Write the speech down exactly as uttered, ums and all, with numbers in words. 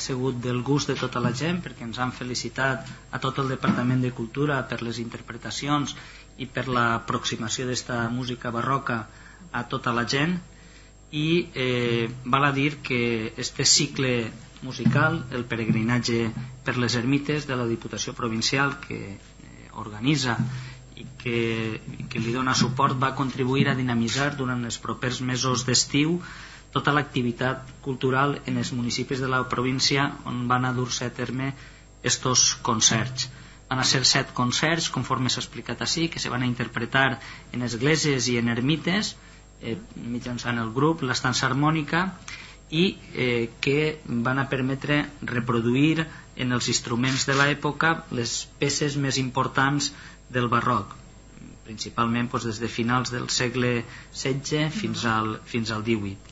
ha sigut del gust de tota la gent, perquè ens han felicitat a tot el Departament de Cultura per les interpretacions i per l'aproximació d'esta música barroca a tota la gent. I eh, val a dir que este cicle musical, el peregrinatge per les ermites de la Diputació Provincial, que eh, organitza i que, que li dona suport, va contribuir a dinamitzar durant els propers mesos d'estiu tota l'activitat cultural en els municipis de la província on van a dur-se a terme estos concerts. Van a ser set concerts, conforme s'ha explicat així, que se van a interpretar en esglésies i en ermites, eh, mitjançant el grup, l'estança harmònica, i eh, que van a permetre reproduir en els instruments de l'època les peces més importants del barroc, principalment doncs, des de finals del segle setze fins al, fins al divuit.